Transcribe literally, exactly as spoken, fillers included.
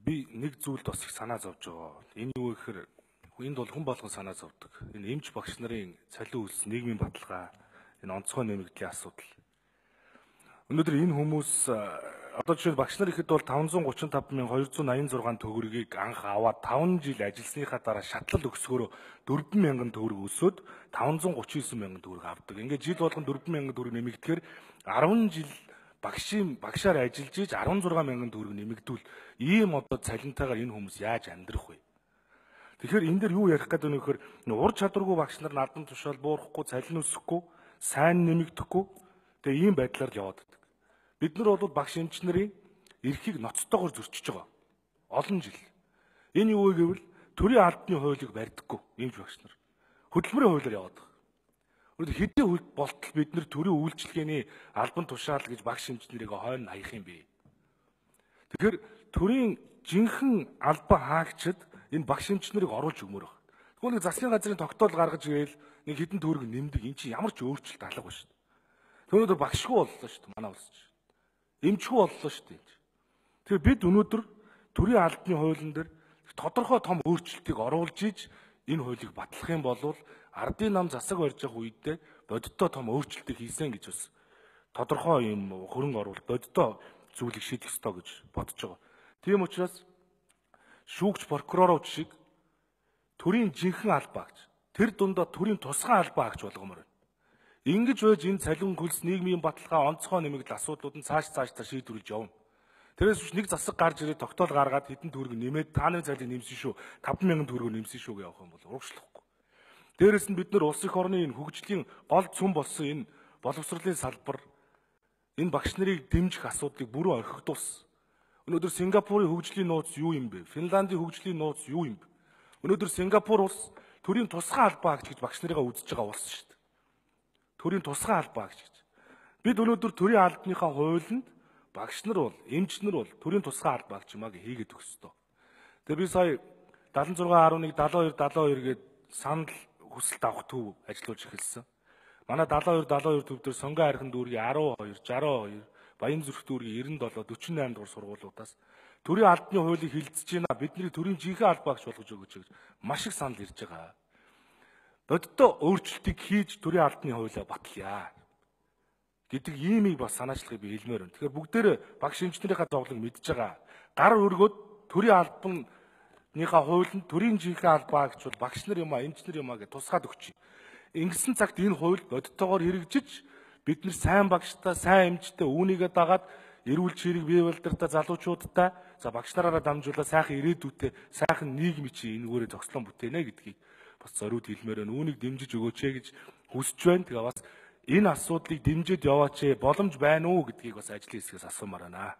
Би нэг зүйлд бас их санаа зовж байгаа. Энэ юу гэхээр энд бол хүн болгон санаа зовдөг. Энэ эмч багш нарын цалин үйлс, нийгмийн баталгаа, энэ онцгой нэмэгдлийн асуудал. Өнөөдөр энэ хүмүүс одоо жишээ нь багш нар ихэд бол таван зуун гучин тав мянган хоёр зуун аян зургаан төгрөгийг анх аваад таван жил ажилласныхаа дараа шатлал өгсгөөрөө дөрвөн мянган төгрөг өсөөд таван зуун гучин девять мянган төгрөг авдаг. Ингээд жил болгон дөрвөн мянган төгрөг нэмэгдэхээр арван жил багшийн багшаар ажиллаж иж арван зургаан мянган төгрөг нэмэгдүүл ийм одоо цалинтайгаар энэ хүмүүс яаж амьдрах вэ? Тэгэхээр энэ дэр юу ярих гэдэг нь вэхээр ур чадваргүй багш нар надан тушаал буурахгүй, цалин өсөхгүй, сайн нэмэгдэхгүй тэгээ ийм байдлаар л яваад байдаг. Бид нар бол багш эмч нарын эрхийг ноцтойгоор зөрчиж байгаа. Олон жил. Энэ юу вэ гэвэл төрийн албаны хуулийг барьдаггүй эмч багш нар. Хөдөлмөрийн хуулиар яваад байгаа. Өөрөөр хэдийн болтол бид нар төрийн үйлчилгээний албан тушаал гэж багш эмч нарыг хойно хаях юм бэ? Тэгэхээр төрийн жинхэнэ албан хаагчид энэ багш эмч нарыг оруулж өгмөр байна. Тэгвэл нэг засгийн газрын тогтоол гаргаж ирээл нэг хэдэн төгрөг нэмдэг. Эн чинь ямар ч өөрчлөлт алга ба шүү дээ. Түүнээс багшгүй боллоо шүү дээ. Манай улс чинь. Эмчгүй боллоо шүү дээ. Тэгэхээр бид өнөөдөр төрийн албаны хуулийн дээр тодорхой том өөрчлөлтийг оруулж иж энэ хуулийг батлах юм бол ардын нам засаг барьж явах үедээ бодиттой том өөрчлөлтийг хийсэн гэж бас тодорхой юм хөрөнгө оруулалт бодиттой зүйлийг шийдэх ёстой гэж бодож байгаа. Тийм учраас шүүгч прокурорууд шиг төрийн жинхэнэ албаагч тэр дундаа төрийн тусгай албаагч болгомоор байна. Ингэж байж энэ цалин хөлс нийгмийн баталгаа онцгой нэмэгдэл асуудлууд нь цааш цааш та шийдвэрлэж явна. Тэрээс биш нэг засаг гарч ирээд тогтоол гаргаад хэдэн төгрөг нэмээд тааны цалин нэмсэн шүү таван мянган төгрөг нэмсэн шүү гэж явах юм бол урагшлахгүй. Дээрээс нь бид нар улс их орны энэ хөгжлийн гол цөм болсон энэ боловсролын салбар энэ багш нарыг дэмжих асуудлыг бүрэн орхигдуулсан. Өнөөдөр Сингапурын хөгжлийн нууц юу юм бэ? Финландийн хөгжлийн нууц юу юм бэ? Өнөөдөр Сингапур улс төрийн тусгай албаагч гэж багш нарыгаа үзэж байгаа улс шүү дээ. Төрийн тусгай албаагч гэж. Бид өнөөдөр төрийн албаныхаа хуулинд багш нар бол, эмч нар бол төрийн тусгай албаагч юмаа хийгээд өгөх ёстой. Тэгээ би сая дадлан зургаан арван нэг дадлан хоёр дадлан хоёр гээд санал хүсэлт авах төв ажиллуулж эхэлсэн. Манай дадлан хоёр дадлан хоёр төв дээр Сонгон хайрхан дүүргийн арван хоёр, шаран хоёр, Баян зүрх дүүргийн девяносто семь, дөрвөн восемь дугаар сургуулиудаас төрийн албаны хуулийг хилцэж байна. Бидний төрийн жинхэнэ албаагч болгож өгөөч гэж маш их санал ирж байгаа. Бодиттой өөрчлөлтийг хийж төрийн албаны хуулиа батлая гэдэг иймийг бас санаачлахыг би хэлмээр байна. Тэгэхээр бүгдээрээ багш эмчнэрийнхаа зовлон мэдж байгаа. Гар өргөд төрийн албаныхаа хуулинд төрийн жинхэнэ албаагч бол багш нар юм а, эмч нар юм а гэж тусгаад өгч. Ингэсэн цагт энэ хууль бодиттойгоор хэрэгжиж бид нар сайн багштай, сайн эмчтэй үүнийгээ дагаад эрүүл чирэг бие балдартай залуучуудтай за багш нараараа дамжуулаад сайхан ирээдүйтэй сайхан нийгмийн чинь энэгээрээ зохицлон бүтээнэ гэдгийг бас зориуд хэлмээр байна. Үүнийг дэмжиж өгөөч ээ гэж хүсэж байна. Тэгээ бас энэ асуудлыг дэмжиж яваач ээ боломж байна уу гэдгийг бас ажлын хэсгээс асуумаар байна.